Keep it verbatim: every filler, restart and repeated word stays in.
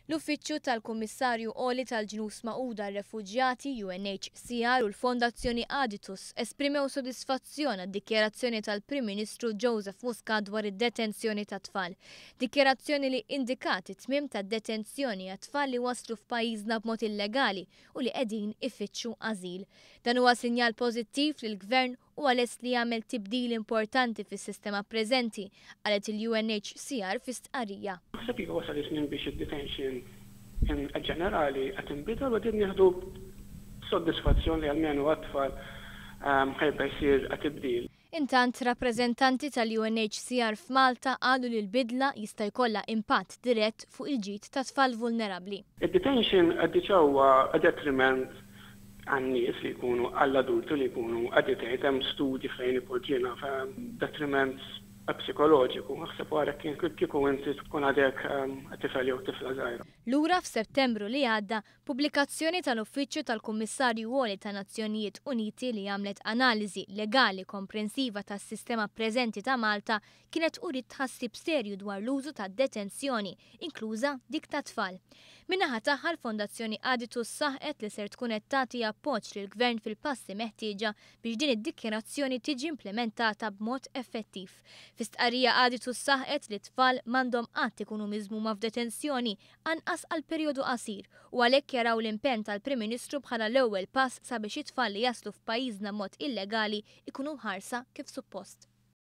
L-Uffiċċju tal-Kummissarju Għoli tal-Ġnus Magħquda għar-Refuġjati U N H C R u l-Fondazzjoni Aditus esprimew sodisfazzjon għad-dikjarazzjoni tal-Prim Ministru Joseph Muscat dwar id-detenzjoni ta' tfal. Dikjarazzjoni li indikat it-tmiem tad-detenzjoni għat-tfal li waslu f'pajjiżna b'mod illegali u li qegħdin ifittxu ażil. Dan huwa sinjal pożittiv li l-Gvern huwa lest li jagħmel tibdil importanti fis-sistema preżenti, qalet il-U N H C R fi stqarrija. Naħseb iva, wasal iż-żmien biex id-detention in ġenerali qed inbidel u qed nieħdu soddisfazzjon li almenu għat-tfal ehm, ħa jibda jsir tibdil. Intant, rappreżentanti tal-U N H C R f'Malta qalu li l-bidla jista' jkollha impatt dirett fuq il-ġid ta' tfal vulnerabbli. Id-detention diġà huwa detriment għan-nies li jkunu, għall-adulti li jkunu detained. Hemm studji fejn ipoġġina detriment psikoloġiku. Aħseb wara kien kieku inti tkun għadek ehm, tifel jew tifla żgħira. Lura f'Settembru li għadda, pubblikazzjoni tal-Uffiċċju tal-Kummissarju Għoli ta' Nazzjonijiet Uniti li għamlet analiżi legali komprensiva tas-sistema preżenti ta' Malta kienet uriet tħassib serju dwar l-użu ta' detenzjoni, inkluża dik ta' tfal. Min-naħa tagħha, l-Fondazzjoni Aditus saħqet li ser tkun qed tagħti appoġġ lill-Gvern fil-passi meħtieġa biex din id-dikjarazzjoni tiġi implementata b'mod effettiv. Fi stqarrija, Aditus saħqet li tfal m'għandhom qatt ikunu miżmuma f'detenzjoni, anqas għal perjodu qasir, u għalhekk jaraw l-impenn tal-Prim Ministru bħala l-ewwel pass sabiex it-tfal li jaslu f'pajjiżna mod illegali ikunu mħarsa kif suppost.